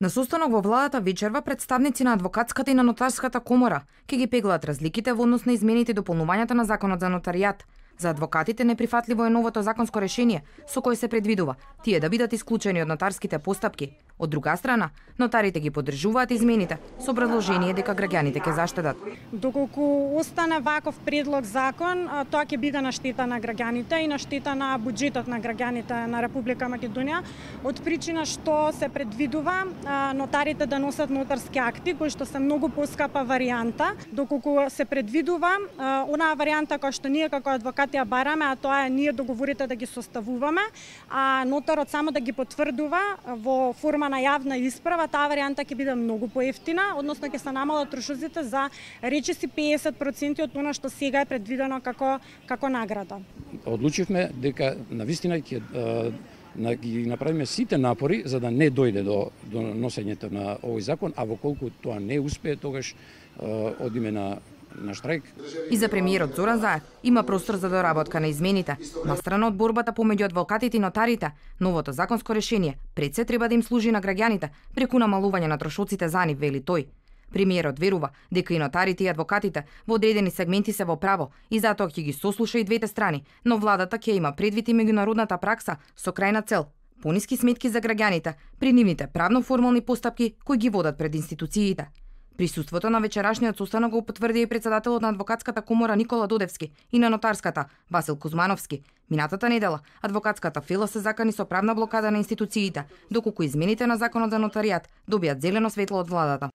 На состанок во владата вечерва представници на адвокатската и на нотарската комора ќе ги пеглаат разликите во однос на измените и дополнувањата на законот за нотаријат. За адвокатите неприфатливо е новото законско решение со кое се предвидува тие да бидат исклучени од нотарските постапки. Од друга страна, нотарите ги поддржуваат измените со образложение дека граѓаните ќе заштедат. Доколку остане ваков предлог закон, тоа ќе биде на штета на граѓаните и на штета на буџетот на граѓаните на Република Македонија, од причина што се предвидува нотарите да носат нотарски акти кои што се многу поскапа варијанта, доколку се предвидува онаа варијанта која што ние како адвокати ја бараме, а тоа е ние договорите да ги составуваме, а нотарот само да ги потврдува во форма на јавна исправа. Таа варијанта ќе биде многу поевтина, односно ќе се намалат трошоците за речиси 50% од она што сега е предвидено како награда. Одлучивме дека навистина ќе ги направиме сите напори за да не дојде до носењето на овој закон, а воколку тоа не успее, тогаш одиме на штрајк. И за премиерот Зоран Заев има простор за доработка на измените. Настрана од борбата помеѓу адвокатите и нотарите, новото законско решение пред се треба да им служи на граѓаните преку намалување на трошоците за нив, вели тој. Премиерот верува дека и нотарите и адвокатите во одредени сегменти се во право и затоа ќе ги сослуша и двете страни, но владата ќе има предвид и меѓународната пракса со крајна цел пониски сметки за граѓаните при нивните правно-формални постапки кои ги водат пред институциите. Присуството на вечерашниот состанок го потврди и председателот на адвокатската комора Никола Додевски и на нотарската Васил Кузмановски. Минатата недела адвокатската фила се закани со правна блокада на институциите, доколку измените на законот за нотаријат добијат зелено светло од владата.